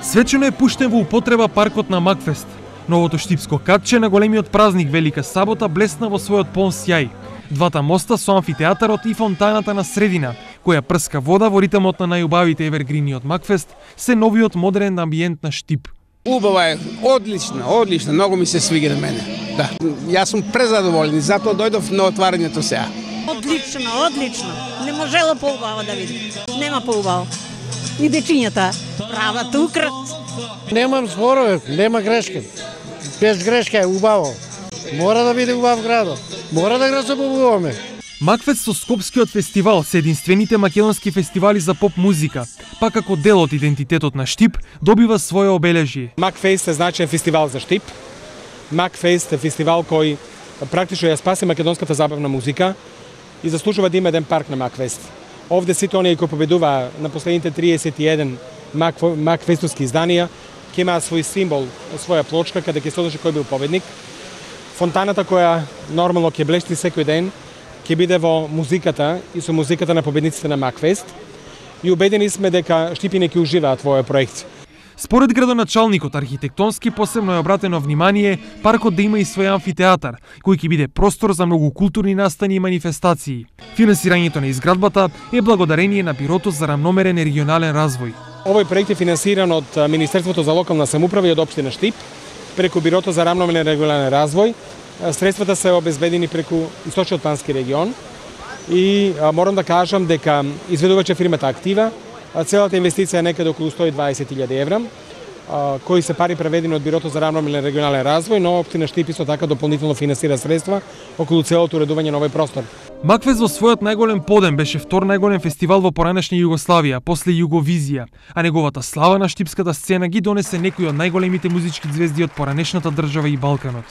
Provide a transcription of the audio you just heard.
Свечено е пуштен во употреба паркот на Макфест. Новото штипско катче на големиот празник Велика сабота блесна во својот полн сјај. Двата моста со амфитеатарот и фонтаната на средина, која прска вода во ритмот на најубавите евергрини од Макфест, се новиот модерен амбиент на Штип. Убава е, одлично, многу ми се свига на мене. Да, јас сум презадоволен, затоа дојдов на отварањето сега. Одлично. Не можела поубаво да видим. Нема поубаво. И дечињата прават украт. Немам зборове, нема грешка. Без грешка е убаво. Мора да биде убав градот. Мора да го забавуваме. Макфест со Скопскиот фестивал се единствените македонски фестивали за поп музика, па како дел од идентитетот на Штип добива своје обележје. Макфест е значаен фестивал за Штип. Макфест е фестивал кој практично ја спаси македонската забавна музика и заслужува да има еден парк на Макфест. Овде сите оние кои победуваа на последните 31 Макфестовски изданија ќе имаат свој символ, своја плочка каде ќе се одлучи кој бил победник. Фонтаната која нормално ќе блешти секој ден ќе биде во музиката и со музиката на победниците на Макфест. И убедени сме дека Штипине ќе уживаат во овој проект. Според градоначалникот, архитектонски посебно е обратено внимание паркот да има и свој амфитеатар, кој ќе биде простор за многу културни настани и манифестации. Финансирањето на изградбата е благодарение на Бирото за рамномерен и регионален развој. Овој проект е финансиран од Министерството за локална самоуправа и од општина Штип, преку Бирото за рамномерен и регионален развој. Средствата се обезбедени преку Источниот плански регион и морам да кажам дека изведуваче фирмата Актива. Целата инвестиција е некаде околу 120.000 евра, кои се пари преведени од Бирото за рамномерен регионален развој, но општина Штип исто така дополнително финансира средства околу целото уредување на овој простор. Макфест во својот најголем подем беше втор најголем фестивал во поранешна Југославија, после Југовизија, а неговата слава на штипската сцена ги донесе некои од најголемите музички ѕвезди од поранешната држава и Балканот.